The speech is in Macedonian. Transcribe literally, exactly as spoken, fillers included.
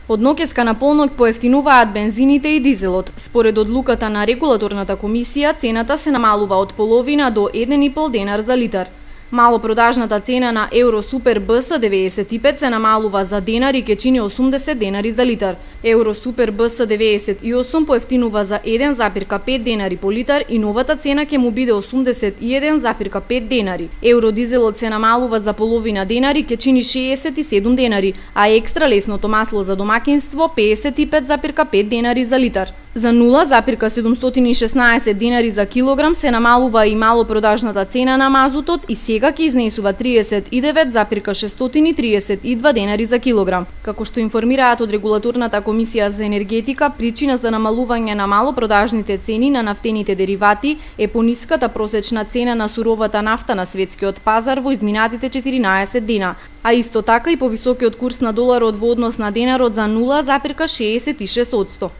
Од ноќеска на полнок поевтинуваат бензините и дизелот. Според одлуката на регулаторната комисија, цената се намалува од половина до еден и пол денар за литар. Малопродажната цена на Евро Супер Б С деветдесет и пет се намалува за денар и ќе чини осумдесет денари за литар. Евро Супер Б С деветдесет и осум поевтинува за еден запирка пет денари по литар и новата цена ќе му биде осумдесет и еден запирка пет денари. Евро Дизелот се намалува за половина денари, ќе чини шеесет и седум денари, а екстра лесното масло за домакинство педесет и пет запирка пет денари за литар. За нула запирка седумстотини и шеснаесет денари за килограм се намалува и малопродажната цена на мазутот и сега ќе изнесува триесет и девет запирка шестстотини и триесет и два денари за килограм. Како што информираат од регулаторната комисија за енергетика, причина за намалување на малопродажните цени на нафтените деривати е пониската просечна цена на суровата нафта на светскиот пазар во изминатите четиринаесет дена, а исто така и повисокиот курс на доларот во однос на денарот за нула запирка шеесет и шест одсто.